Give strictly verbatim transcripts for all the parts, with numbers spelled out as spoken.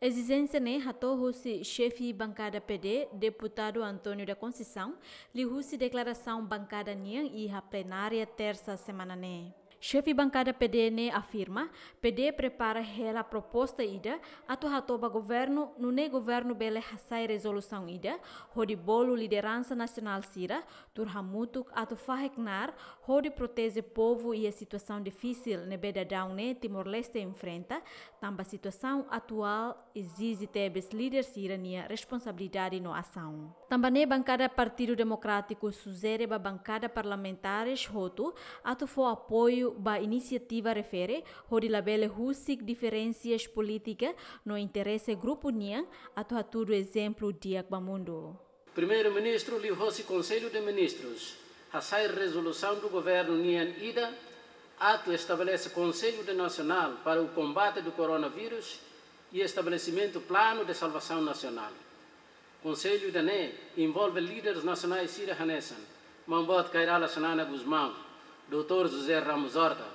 Ezijénsia ne'e hato'o husi xefe bankada P D, Deputadu António da Conceição, liuhusi deklarasaun bankada nian iha plenária tersa semana ne'e. Xefe bankada P D ne'e afirma, P D prepara hela proposta ida atu hato'o ba governu, nune'e governu bele hasai rezolusaun ida, hodi bolu lideransa nasionál sira tuur hamutuk atu fahe knaar, hodi proteje povu iha situasaun difisil ne'ebé daudaun ne'e Timor-Leste enfrenta, tanba situasaun atuál ezije tebes líder sira-nia responsabilidade no asaun. Tanba ne'e bankada Partidu Demokrátiku sujere ba bankada parlamentares hotu atu fó apoiu ba inisiativa refere, hodi labele husik diferensas polítika no interese grupu nian atu hatudu ezemplu di'ak ba mundu. Primeiru-Ministru liuhosi Konsellu de Ministrus hasai rezolusaun governu nian ida atu estabelese Konsellu de Nasionál para o Combate do Coronavírus e estabelesimentu Planu de Salvasaun Nasionál. Konsellu ida-ne'e envolve líderes nasionais sira hanesan Maun Boot Kay Rala Xanana Gusmão, Doutór José Ramos Horta,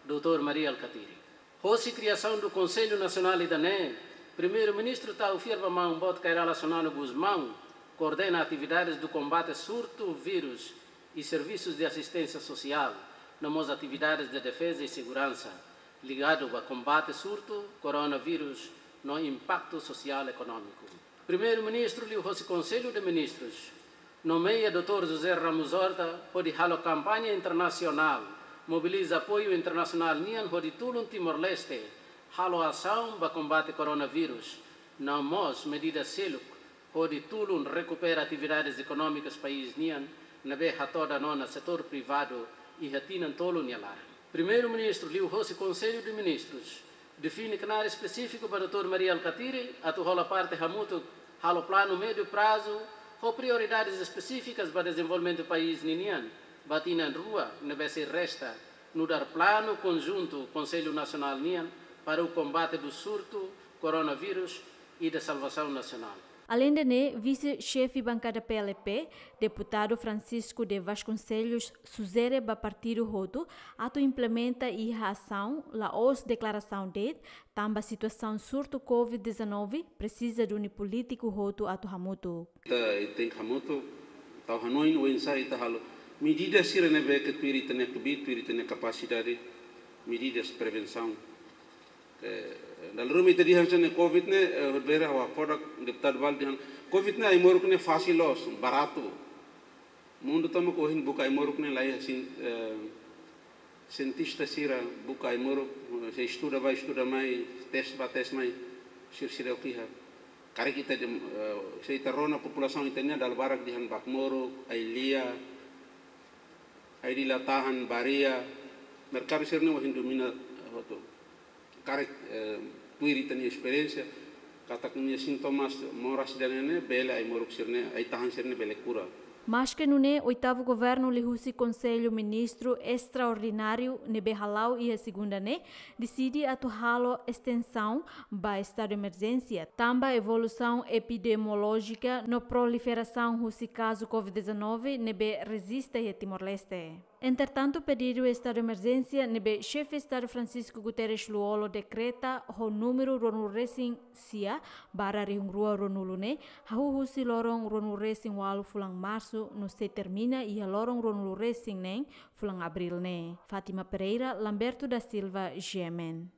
Doutór Mari Alkatiri. Hosi kriasaun Konsellu Nasionál ida-ne'e, Primeiru-Ministru tau fiar ba Maun Boot Kay Rala Xanana Gusmão koordena atividades do combate surtu vírus e serviços de assistência social, no mós atividades de defesa e segurança ligadu ba kombate surtu coronavírus no impaktu sosiál ekonómiku. Primeiru-Ministru liuhosi Konsellu de Ministrus nomeia Doutór José Ramos Horta hodi halo kampaña internasionál, mobiliza apoiu internasionál nian hodi tulun Timor-Leste halo asaun ba kombate coronavírus, no mós medida seluk hodi tulun rekupera atividades ekonómikas país nian ne'ebé hato'o da'an ona setór privadu iha tinan tolu nia laran. Primeiru-Ministru liuhosi Konsellu de Ministrus define knaar espesífiku ba Doutór Mari Alkatiri atu hola parte hamutuk halo planu médiu prazu ho prioridades espesífikas ba dezenvolvimentu país ninian ba tinan rua ne'ebé sei resta, nu'udar planu konjuntu Konsellu Nasionál nian para o combate do surto coronavírus e da salvação nacional. Aleinde ne'e, vise-xefe bankada P L P, Deputadu Francisco de Vasconcelos, sujere ba partidu hotu atu implementa iha asaun, la'ós deklarasaun de'it, tanba situasaun surtu covid dezanove presiza duni polítiku hotu atu hamutuk. Ita, ita tenke hamutuk, tau hanoin oinsá ita halo medida sira ne'ebé ke tuir ita-nia kbiit, tuir ita-nia kapasidade, medidas prevensaun. Eh, dala ruma ita dehan hanesan ne'e covid ne'e, eh, bera wa kodak deputadu balu dehan, covid ne'e ai-moruk ne'e fasil loos, baratu. Mundu tomak ohin buka ai-moruk ne'e laiha sin, eh, sientista sira buka ai-moruk, eh, sei estuda bá, estuda mai, tes bá, tes mai, sira, sira o kiha. Karik ita dem-, eh, se ita rona populasaun ita-nian dala barak dehan bakmoruk, ai-lia, ai-lia la tahan, bá-ria, merkadu sira-ne'e ohin domina, eh, hotu. Karik, eh, tuir ita-nia esperiénsia, katak nia sintomas moras ida-ne'e ne'e bele ai-moruk sira-ne'e, ai-tahan sira-ne'e bele kura. Maske nune'e, oitavu governu liuhusi Konsellu Ministru Estraordináriu ne'ebé hala'o iha segunda ne'e, deside atu halo estensaun ba estadu emerjénsia, tanba evolusaun epidemiolójika no proliferasaun husi kazu covid dezanove ne'ebé rejista iha Timor-Leste. Entretantu, pedidu estadu emerjénsia ne'ebé Xefe Estadu Francisco Guterres Lú-Olo dekreta ho númeru ruanulu-resin-sia barra rihun rua ruanulu ne'e, hahú husi loron ruanulu-resin-ualu fulan Marsu no sei termina iha loron ruanulu-resin-neen fulan Abríl ne'e. Fátima Pereira, Lamberto da Silva, G M N.